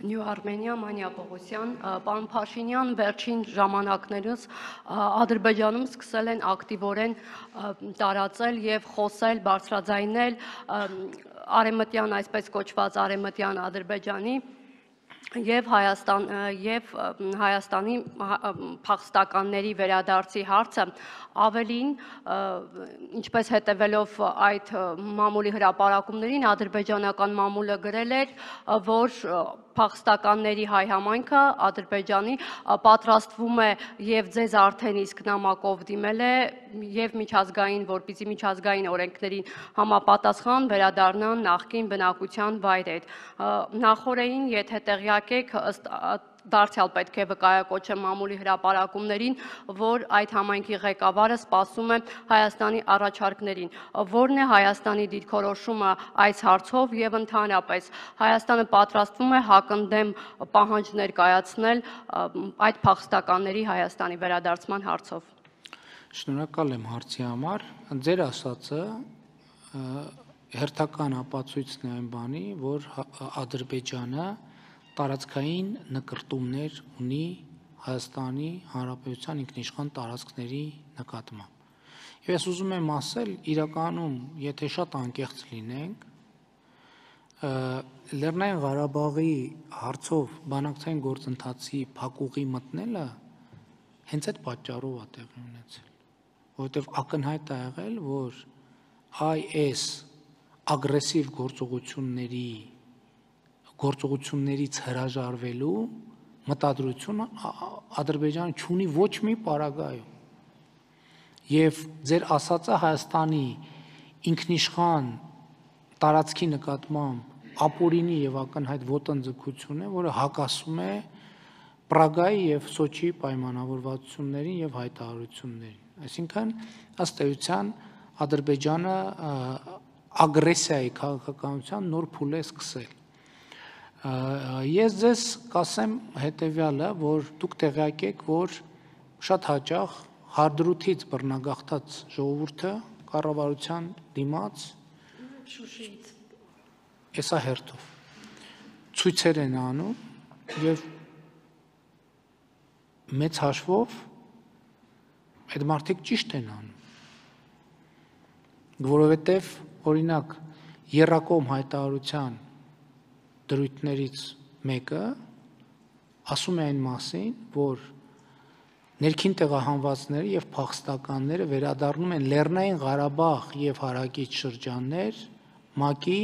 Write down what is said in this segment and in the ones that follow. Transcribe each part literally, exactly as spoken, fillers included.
Նյու Արմենիա, Մանյա Պողոսյան, պարոն Փաշինյան, վերջին ժամանակներս Ադրբեջանում սկսել են ակտիվորեն տարածել եւ խոսել, բարձրաձայնել արևմտյան, այսպես կոչված արևմտյան Ադրբեջանի եւ Հայաստան եւ Հայաստանի փախստականների վերադարձի հարցը ավելին, ինչպես հետևելով այդ մամուլի հրապարակումներին, ադրբեջանական մամուլը գրել էր, որ փախստականների հայ համայնքը Ադրբեջանի պատրաստվում է եւ ձեզ արդեն իսկ նամակով դիմել է եւ միջազգային, որպեսզի միջազգային օրենքներին համապատասխան վերադառնան նախկին բնակության վայրեր։ Նախորդին, եթե տեղյակ եք, ըստ դարձյալ պետք է վկայակոչեմ մամուլի հրապարակումներին, որ այդ համայնքի ղեկավարը սպասում է Հայաստանի առաջարկներին։ Որն է Հայաստանի դիրքորոշումը այս հարցով եւ ընդհանրապես Հայաստանը պատրաստվում է հակընդդեմ պահանջներ կայացնել այդ փախստականների Հայաստանի վերադարձման հարցով։ Շնորհակալ եմ հարցի համար։ Ձեր ասածը հերթական ապացույցն է այն բանի, որ Ադրբեջանը տարածքային նկրտումներ ունի Հայաստանի Հանրապետության ինքնիշխան տարածքների նկատմամբ։ Եվ ես ուզում եմ ասել, իրականում, եթե շատ անկեղծ լինենք, Լեռնային Ղարաբաղի հարցով բանակցային գործընթացի փակուղի մտնելը հենց այդ պատճառով է տեղի ունեցել, որովհետև ակնհայտ է եղել, որ այս ագրեսիվ գործողությունների գործողություններից հրաժարվելու մտադրությունը Ադրբեջանը չունի ոչ մի պարագայում։ Եվ ձեր ասածը Հայաստանի ինքնիշխան տարածքի նկատմամբ ապօրինի եւ ակնհայտ ոտնձգություն է, որը հակասում է Պրագայի եւ Սոչիի պայմանավորվածություններին եւ հայտարարություններին։ Այսինքն, ըստ էության, Ադրբեջանը ագրեսիայի քաղաքականության նոր փուլ է սկսել։ Ես ձեզ կասեմ հետևյալը, որ դուք տեղյակ եք, որ շատ հաճախ հարդրութից բռնագաղթած ժողովուրդը կառավարության դիմաց Շուշիից էսա հերթով ցույցեր են անում եւ մեծ հաշվով այդ մարդիկ ճիշտ են անում, որովհետեւ օրինակ եռակողմ հայտարարության դրույթներից մեկը ասում է այն մասին, որ ներքին տեղահանվածները եւ փախստականները վերադառնում են Լեռնային Ղարաբաղ եւ հարակից շրջաններ ՄԱԿ-ի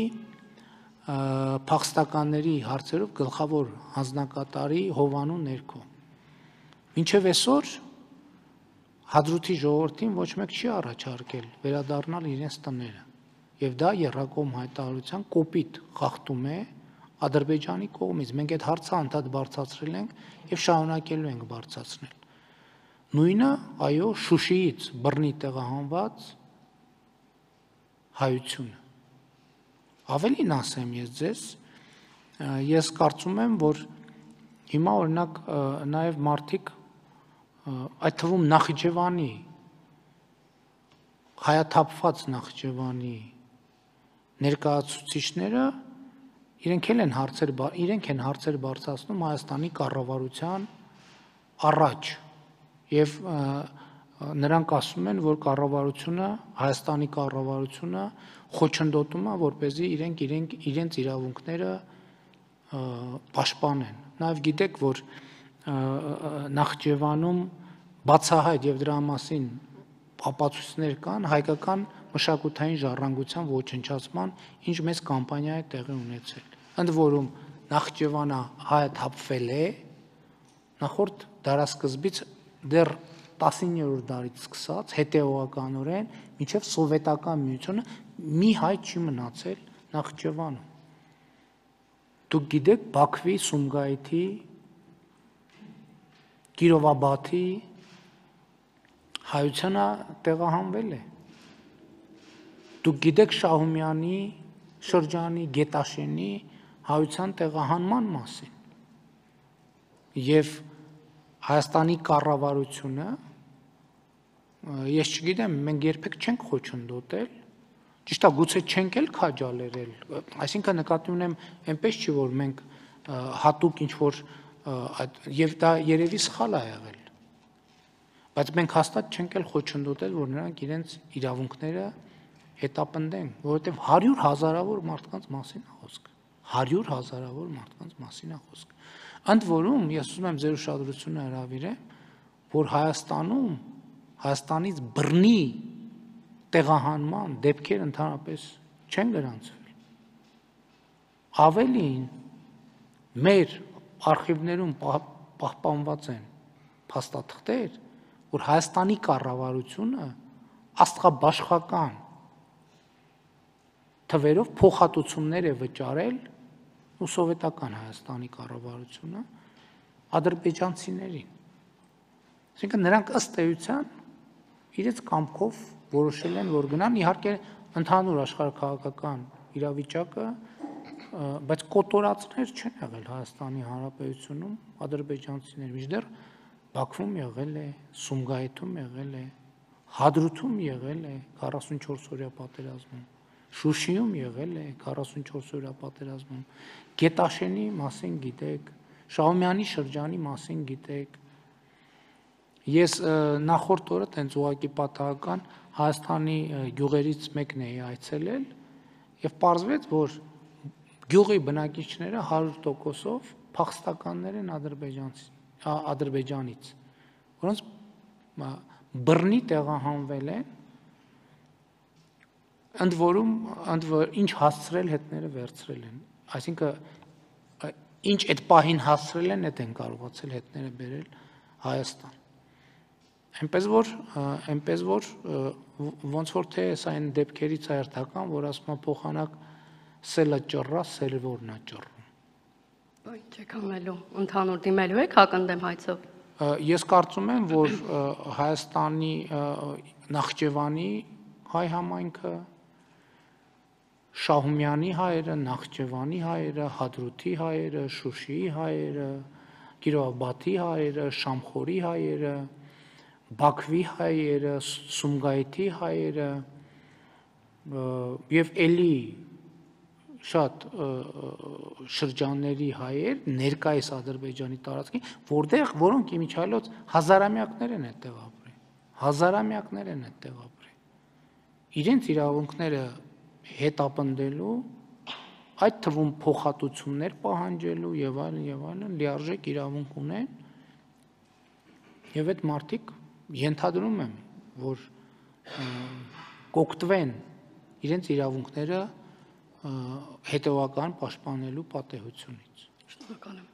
փախստականների հարցերով գլխավոր հանձնակատարի հովանու ներքո։ Մինչև այսօր Հադրութի ժողովրդին ոչ մեկ չի առաջարկել վերադառնալ իրենց տները, եւ դա եռակողմ հայտարարության կոպիտ խախտում է Ադրբեջանի կողմից։ Մենք այդ հարցը անդադ բարձրացրել ենք եւ շարունակելու ենք բարձրացնել։ Նույնը, այո, Շուշիից բռնի տեղահանված հայությունը։ Ավելին ասեմ ես ձեզ, ես կարծում եմ, որ հիմա օրինակ նաեւ մարդիկ այդ թվում Նախիջևանի հայաթափված Նախիջևանի ներկայացուցիչները իրենք են հարցեր իրենք են հարցեր բարձրացնում Հայաստանի կառավարության առաջ եւ նրանք ասում են, որ կառավարությունը Հայաստանի կառավարությունը խոչընդոտում է, որպեսզի իրենք իրենք իրենց իրավունքները պաշտպանեն։ Նաեւ գիտեք, որ Նախիջևանում բացահայտ եւ դրա մասին ապացույցներ կան հայկական մշակութային ժառանգության ոչնչացման, ինչ մեծ կամպանիա է տեղի ունեցել։ Ընդ որում Նախիջևանը հայաթափվել է նախորդ դարասկզբից դեռ տասիններորդ դարից սկսած հետեւողականորեն մինչև սովետական միությունը մի հայ չի մնացել Նախիջևանում։ Դուք գիտեք Բաքվի, Սումգայիթի, Կիրովաբադի հայությունը տեղահանվել է։ Դուք գիտեք Շահումյանի շրջանի Գետաշենի հայության տեղահանման մասին։ Եվ Հայաստանի կառավարությունը, ես չգիտեմ, մենք երբեք չենք խոչընդոտել, ճիշտ է, գուցե չենք էլ քաջալերել, այսինքն նկատի ունեմ այնպես չի, որ մենք հատուկ ինչ որ եւ դա երևի սխալ է եղել, բայց մենք հաստատ չենք էլ խոչընդոտել, որ նրանք իրենց իրավունքները հետապնդեն, որովհետեւ հարյուր հազարավոր մարդկանց մասին է խոսքը, հարյուր հազարավոր մարդկանց մասին է խոսքը։ Ընդ որում, ես ուզում եմ ձեր ուշադրությունը հրավիրեմ, որ Հայաստանում Հայաստանից բռնի տեղահանման դեպքեր ընդհանրապես չեն գրանցվել։ Ավելին, մեր արխիվներում պահպանված են փաստաթղթեր, որ Հայաստանի կառավարությունը աստղաբաշխական թվերով փոխհատուցումներ է վճարել ու սովետական Հայաստանի կառավարությունը ադրբեջանցիներին։ Այսինքն նրանք ըստ էության իրենց կամքով որոշել են, որ գնան, իհարկե ընդհանուր աշխարհաքաղաքական իրավիճակը, բայց կոտորածներ չեն եղել Հայաստանի Հանրապետությունում ադրբեջանցիներ, մինչդեռ Բաքվում եղել է, Սումգայիթում եղել է, Հադրութում եղել է քառասունչորս օրյա պատերազմում, Շուշիում եղել է քառասունչորս օրյա պատերազմում, Գետաշենի մասին գիտեք, Շահումյանի շրջանի մասին գիտեք։ Ես նախորդ օրը տենց ուղղակի պատահական Հայաստանի գյուղերից մեկն էի այցելել եւ պարզվեց, որ գյուղի բնակիչները հարյուր տոկոսով փախստականներ են Ադրբեջանից, որոնց բռնի տեղահանվել են, ընդ որում ինչ հասցրել հետները վերցրել են, այսինքն ինչ այդ պահին հասցրել են, այդ են կարողացել հետները բերել Հայաստան։ Այնպես որ, այնպես որ ոնց որ թե սա այն դեպքերից է հերթական, որ ասում է փոխանակ սելը ճռա, սելվորն է ճռում։ Ինչ եք անելու, ընդհանուր դիմելու եք հակընդդեմ հայցով։ Ես կարծում եմ, որ Հայաստանի Նախճեվանի հայ համայնքը, Շահումյանի հայերը, Նախճեվանի հայերը, Հադրութի հայերը, Շուշիի հայերը, Կիրովաբադի հայերը, Շամխորի հայերը, Բաքվի հայերը, Սումգայիթի հայերը եւ էլի շատ շրջանների հայեր ներկայիս Ադրբեջանի տարածքին, որտեղ որոնք իմիջիայլոց հազարամյակներ են այդտեղ ապրել, հազարամյակներ են այդտեղ ապրել։ Իրենց իրավունքները հետապնդելու, այդ թվում փոխհատուցումներ պահանջելու եւ այլն եւ այլն լիարժեք իրավունք ունեն եւ այդ մարդիկ ենթադրում եմ, որ կօգտվեն իրենց իրավունքները հետևական պաշտպանելու պատեհությունից։ Շնորհակալ եմ։